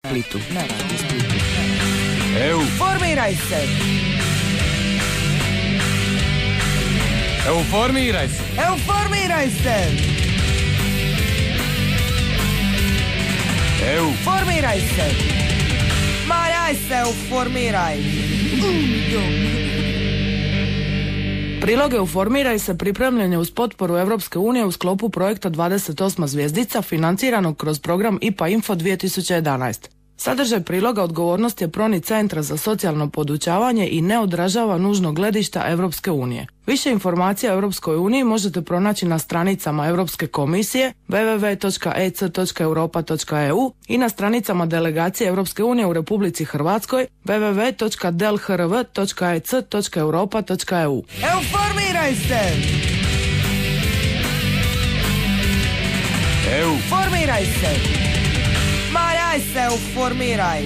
Splitu. Formiraj se! Euformiraj se! Euformiraj se! Formiraj se! Ma daj se, euformiraj! Prilog Euformiraj se pripremljen je uz potporu Europske unije u sklopu projekta 28. zvjezdica financiranog kroz program IPA Info 2011. Sadržaj priloga odgovornost je Proni Centra za socijalno podučavanje i ne odražava nužno gledišta Europske unije. Više informacija o Europskoj uniji možete pronaći na stranicama Europske komisije www.ec.europa.eu i na stranicama delegacije Europske unije u Republici Hrvatskoj www.delhrv.ec.europa.eu. Euformiraj se! Formiraj se! Ma daj se, euformiraj!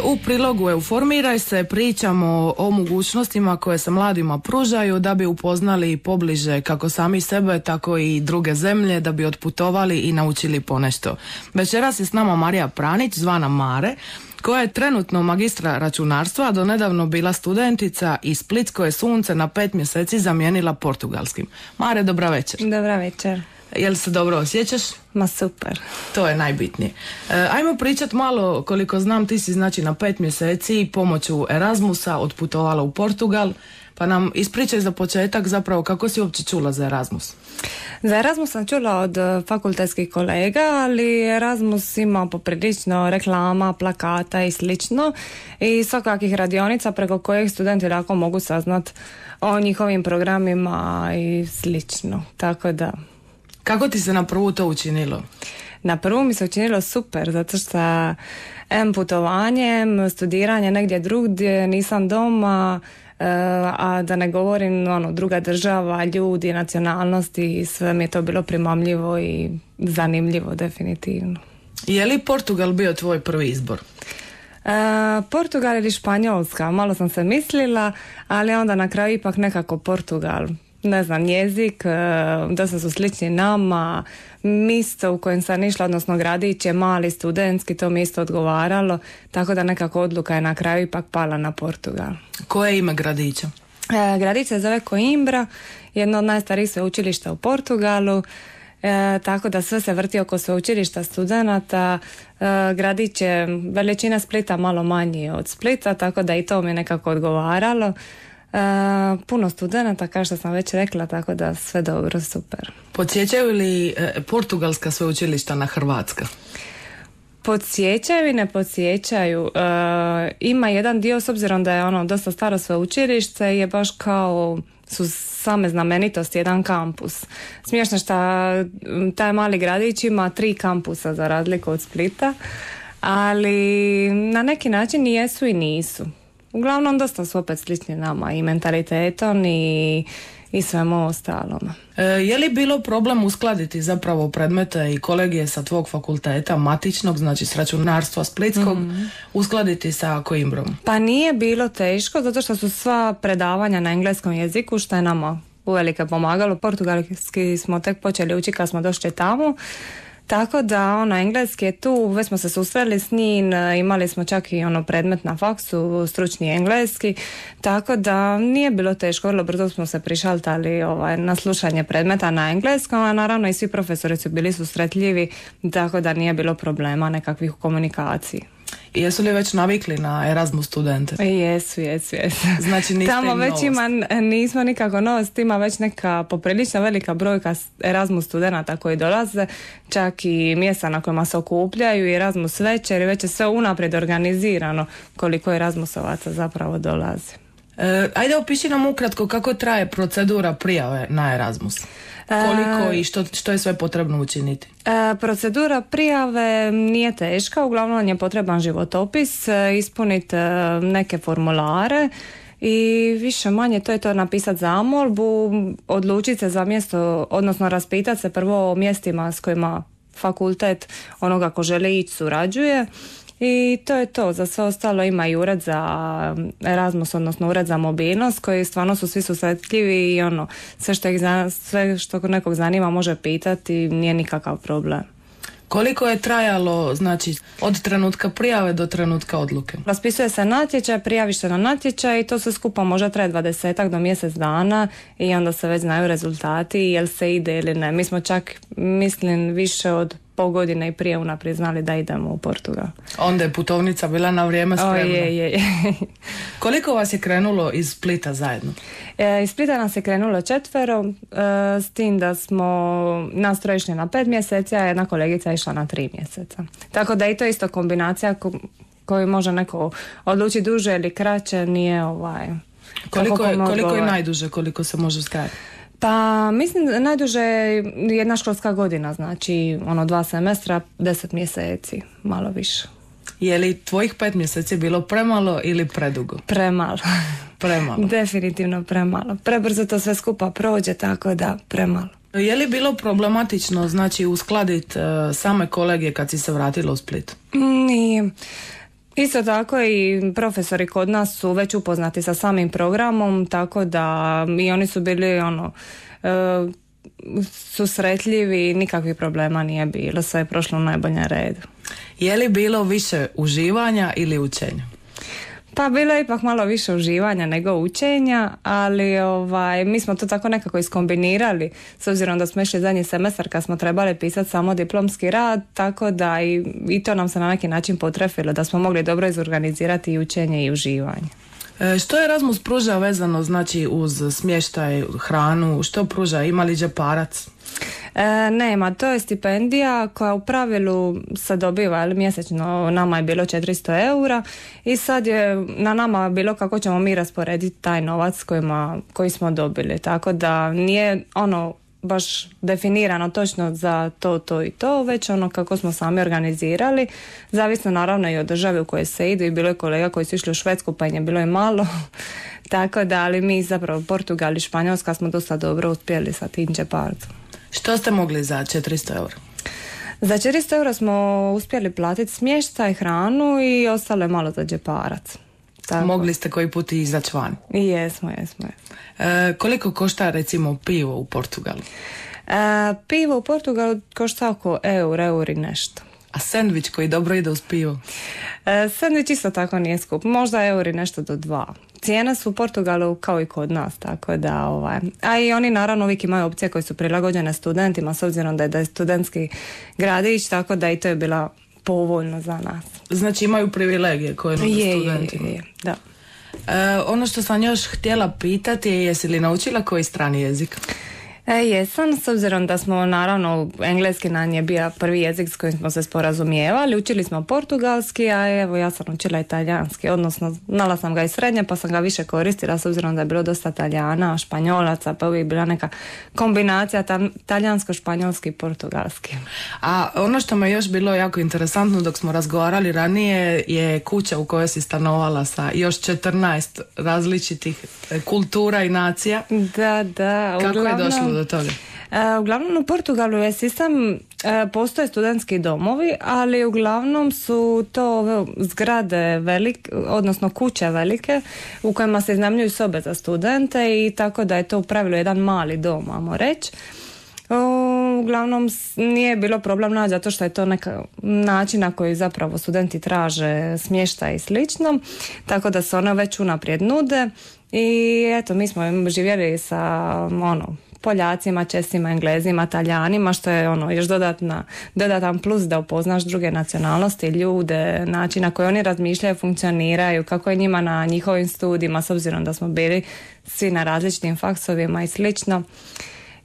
U prilogu Euformiraj se pričamo o mogućnostima koje se mladima pružaju da bi upoznali pobliže kako sami sebe, tako i druge zemlje, da bi otputovali i naučili ponešto. Večeras je s nama Marija Pranić, zvana Mare, koja je trenutno magistra računarstva, a donedavno bila studentica i splitsko je sunce na 5 mjeseci zamijenila portugalskim. Mare, dobra večer. Dobra večer. Jel se dobro osjećaš? Ma super. To je najbitnije. Ajmo pričat malo, koliko znam ti si znači na 5 mjeseci pomoću Erasmusa otputovala u Portugal, pa nam ispričaj za početak zapravo kako si uopće čula za Erasmus. Za Erasmus sam čula od fakultetskih kolega, ali Erasmus ima poprilično reklama, plakata i slično i svakakvih radionica preko kojih studenti lako mogu saznat o njihovim programima i slično, tako da... Kako ti se na prvu to učinilo? Na prvu mi se učinilo super, zato što putovanje, studiranje negdje drugdje, nisam doma, a da ne govorim druga država, ljudi, nacionalnosti, sve mi je to bilo primamljivo i zanimljivo definitivno. Je li Portugal bio tvoj prvi izbor? Portugal ili Španjolska, malo sam se mislila, ali onda na kraju ipak nekako Portugal. Ne znam, jezik, dosta su slični nama, mjesto u kojem sam išla, odnosno gradić je mali, studentski, to mi isto odgovaralo, tako da nekako odluka je na kraju ipak pala na Portugal. Koje je ime gradića? Gradić se zove Coimbra, jedno od najstarijih sveučilišta u Portugalu, tako da sve se vrti oko sveučilišta studenata. Gradić je veličina Splita malo manji od Splita, tako da i to mi je nekako odgovaralo. Puno studenata, kao što sam već rekla, tako da sve dobro, super. Podsjećaju li portugalska sveučilišta na hrvatska? Podsjećaju i ne podsjećaju. Ima jedan dio, s obzirom da je dosta staro sveučilište, je baš kao su same znamenitosti, jedan kampus. Smiješno što taj mali gradić ima 3 kampusa za razliku od Splita, ali na neki način i jesu i nisu. Uglavnom dosta su opet slični nama i mentalitetom i svemu ostalom. Je li bilo problem uskladiti zapravo predmete i kolegije sa tvog fakulteta matičnog, znači s računarstva splitskog, uskladiti sa Coimbrom? Pa nije bilo teško, zato što su sva predavanja na engleskom jeziku, što je nama uvelike pomagalo. Portugalski smo tek počeli učiti kad smo došli tamo. Tako da engleski je tu, već smo se susreli s njim, imali smo čak i predmet na faksu, stručni engleski, tako da nije bilo teško, vrlo brzo smo se prišaltali na slušanje predmeta na engleskom, a naravno i svi profesori su bili susretljivi, tako da nije bilo problema nekakvih u komunikaciji. I jesu li već navikli na Erasmus studente? Jesu. Znači niste tamo im već novost? Nismo nikako novost, ima već neka poprilično velika brojka Erasmus studenata koji dolaze, čak i mjesta na kojima se okupljaju i Erasmus večer i već je sve unaprijed organizirano koliko Erasmusovaca zapravo dolazi. Ajde opiši nam ukratko kako traje procedura prijave na Erasmus. Koliko i što je sve potrebno učiniti? Procedura prijave nije teška, uglavnom je potreban životopis, ispuniti neke formulare i više manje to je to, napisati zamolbu, odlučiti se za mjesto, odnosno raspitati se prvo o mjestima s kojima fakultet onoga ko želi ići surađuje. I to je to, za sve ostalo ima i ured za Erasmus, odnosno ured za mobilnost, koji stvarno su svi susretljivi i sve što nekog zanima može pitati, nije nikakav problem. Koliko je trajalo, znači, od trenutka prijave do trenutka odluke? Raspisuje se natječaj, prijaviš se na natječaj i to sve skupa može traje 20 do mjesec dana i onda se već znaju rezultati jel se ide ili ne. Mi smo čak, mislim, više od pol godine i prije unaprijed znali da idemo u Portugal. Onda je putovnica bila na vrijeme spremna. Je. Koliko vas je krenulo iz Splita zajedno? Iz Splita nas je krenulo 4, s tim da smo nas troje išli na 5 mjeseci, a jedna kolegica je išla na 3 mjeseca. Tako da i to isto kombinacija koju može neko odlučiti duže ili kraće, nije Koliko je najduže, koliko se može stajati? Pa mislim najduže je jedna školska godina, znači 2 semestra, 10 mjeseci, malo više. Je li tvojih 5 mjeseci bilo premalo ili predugo? Premalo. Premalo. Definitivno premalo. Prebrzo to sve skupa prođe, tako da premalo. Je li bilo problematično, znači, uskladiti same kolegije kad si se vratila u Split? Nije. Isto tako i profesori kod nas su već upoznati sa samim programom, tako da i oni su bili susretljivi, nikakvih problema nije bilo, sve je prošlo u najboljem redu. Je li bilo više uživanja ili učenja? Pa bilo je ipak malo više uživanja nego učenja, ali mi smo to tako nekako iskombinirali, s obzirom da smo išli zadnji semestar kad smo trebali pisati samo diplomski rad, tako da i to nam se na neki način potrefilo, da smo mogli dobro izorganizirati i učenje i uživanje. Što Erasmus pruža vezano, znači, uz smještaj, hranu, što pruža, ima li džeparac? Nema, to je stipendija koja u pravilu se dobiva, ali mjesečno nama je bilo 400 eura i sad je na nama bilo kako ćemo mi rasporediti taj novac koji smo dobili, tako da nije baš definirano točno za to i to, već kako smo sami organizirali, zavisno naravno i od države u kojoj se ide, i bilo je kolega koji su išli u Švedsku pa im je bilo i malo, tako da, ali mi zapravo Portugal i Španjolska smo dosta dobro uspjeli sa tim džeparcom. Što ste mogli za 400 eura? Za 400 eura smo uspjeli platiti smještaj, hranu i ostalo je malo za džeparac. Tako. Mogli ste koji put izaći van? Jesmo. Koliko košta recimo pivo u Portugalu? Pivo u Portugalu košta oko eur i nešto. A sendvič koji dobro ide uz pivo? Sendvič isto tako nije skup, možda eur i nešto do 2. Cijene su u Portugalu kao i kod nas, tako da a i oni naravno uvijek imaju opcije koje su prilagođene studentima, s obzirom da je studentski gradić, tako da i to je bila povoljno za nas. Znači imaju privilegije koje nude studentima? Je, da. Ono što sam još htjela pitati je, jesi li naučila koji strani jezik? Jesam, s obzirom da smo naravno engleski nam je bio prvi jezik s kojim smo se sporazumijevali, učili smo portugalski, a evo ja sam učila italijanski, odnosno znala sam ga i srednje pa sam ga više koristila s obzirom da je bilo dosta Talijana, Španjolaca, pa uvijek bila neka kombinacija talijansko-španjolski i portugalski. A ono što me još bilo jako interesantno dok smo razgovarali ranije je kuća u kojoj si stanovala sa još 14 različitih kultura i nacija. Da. Kako je došlo do toga? Uglavnom u Portugalu je sistem, postoje studentski domovi, ali uglavnom su to ove zgrade odnosno kuće velike u kojima se iznajmljuju sobe za studente i tako da je to u pravilu jedan mali dom, ajmo reći. Uglavnom nije bilo problem naći zato što je to neka način na koji zapravo studenti traže smještaj i slično, tako da se one već unaprijed nude i eto mi smo živjeli sa Poljacima, Česima, Englezima, Talijanima, što je još dodatan plus da upoznaš druge nacionalnosti, ljude, način na koji oni razmišljaju, funkcioniraju, kako je njima na njihovim studijima, s obzirom da smo bili svi na različitim faksovima i slično.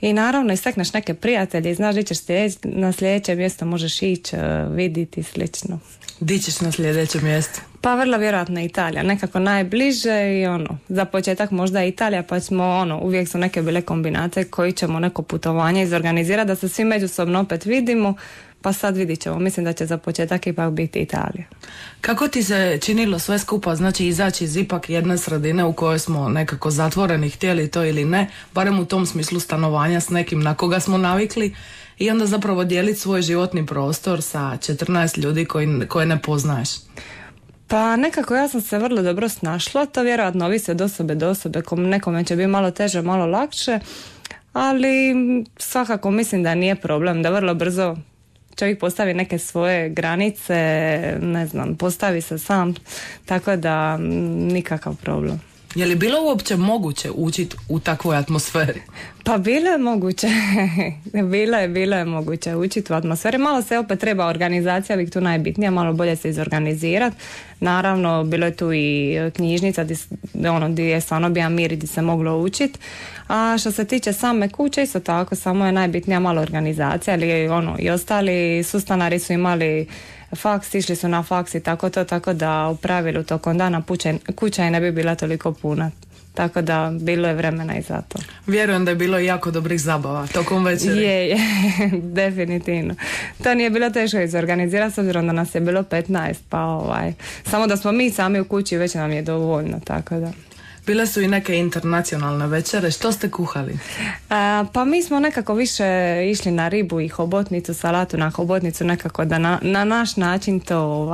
I naravno istekneš neke prijatelje i znaš gdje ćeš na sljedeće mjesto možeš ići, vidjeti i slično. Di ćeš na sljedeće mjesto? Pa vrlo vjerojatno Italija, nekako najbliže i za početak možda Italija, pa ćemo uvijek su neke bile kombinacije koji ćemo neko putovanje izorganizirati da se svi međusobno opet vidimo, pa sad vidit ćemo, mislim da će za početak ipak biti Italija. Kako ti se činilo sve skupa, znači izaći iz ipak jedne sredine u kojoj smo nekako zatvoreni, htjeli to ili ne, barem u tom smislu stanovanja s nekim na koga smo navikli, i onda zapravo dijeliti svoj životni prostor sa 14 ljudi koje ne poznaješ? Pa nekako ja sam se vrlo dobro snašla, to vjerojatno ovisi od osobe do osobe, nekome će biti malo teže, malo lakše, ali svakako mislim da nije problem, da vrlo brzo čovjek postavi neke svoje granice, ne znam, postavi se sam, tako da nikakav problem. Je li bilo uopće moguće učiti u takvoj atmosferi? Pa bilo je moguće. bilo je moguće učiti u atmosferi. Malo se opet treba organizacija, uvijek tu najbitnija, malo bolje se izorganizirati. Naravno, bilo je tu i knjižnica gdje je stvarno bio mir, gdje se moglo učiti. A što se tiče same kuće, isto tako, samo je najbitnija malo organizacija, ali i ostali sustanari su imali faks, išli su na faks i tako da u pravilu tokom dana kuća i ne bi bila toliko puna. Tako da bilo je vremena i za to. Vjerujem da je bilo jako dobrih zabava tokom večeri. Je, definitivno. To nije bilo teško izorganizirati s obzirom da nas je bilo 15, pa samo da smo mi sami u kući već nam je dovoljno, tako da. Bile su i neke internacionalne večere. Što ste kuhali? Pa mi smo nekako više išli na ribu i hobotnicu, salatu na hobotnicu, nekako da na naš način to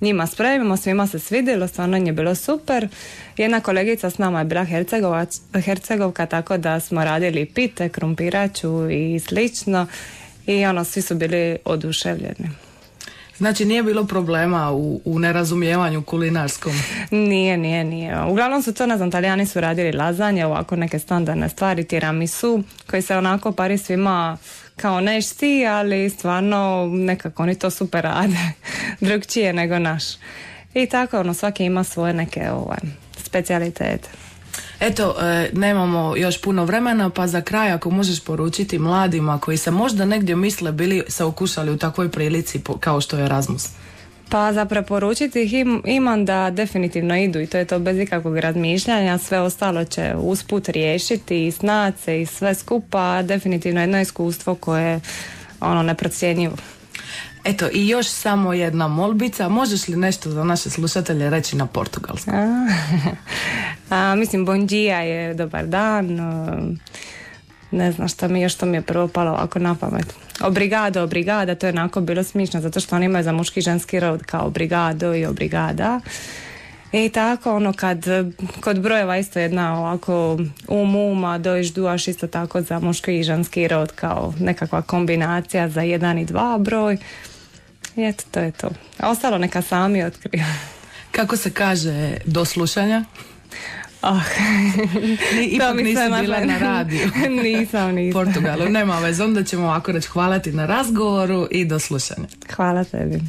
njima spremimo. Svima se svidjelo, stvarno je bilo super. Jedna kolegica s nama je bila Hercegovka, tako da smo radili pite, krumpiraču i slično. I svi su bili oduševljeni. Znači nije bilo problema u nerazumijevanju kulinarskom? Nije. Uglavnom su to, ne znam, Talijani su radili lazanje, ovako neke standardne stvari, tiramisu, koji se onako pari svima kao nešti, ali stvarno nekako oni to super rade, drugčije nego naš. I tako, svaki ima svoje neke specijalitete. Eto, nemamo još puno vremena, pa za kraj ako možeš poručiti mladima koji se možda negdje misle bili se okušali u takvoj prilici kao što je Erasmus. Pa za preporučiti ih imam da definitivno idu i to je to bez ikakvog razmišljanja, sve ostalo će usput riješiti i snaći se i sve skupa, definitivno jedno iskustvo koje je neprocjenjivo. Eto, i još samo jedna molbica, možeš li nešto za naše slušatelje reći na portugalskom? Mislim, bon dia je dobar dan, ne znam što mi je prvo palo ovako na pamet. Obrigada, to je onako bilo smišno, zato što oni imaju za muški i ženski rod kao obrigado i obrigada. I tako, kod brojeva isto jedna ovako uma, dojš, duaš, isto tako za muški i ženski rod kao nekakva kombinacija za 1 i 2 broj. I eto, to je to. A ostalo neka sami otkriju. Kako se kaže do slušanja? Ipak nisi bila na radiju. Nisam. Portugalu, nema veze, onda ćemo ovako reći hvala ti na razgovoru i do slušanja. Hvala tebi.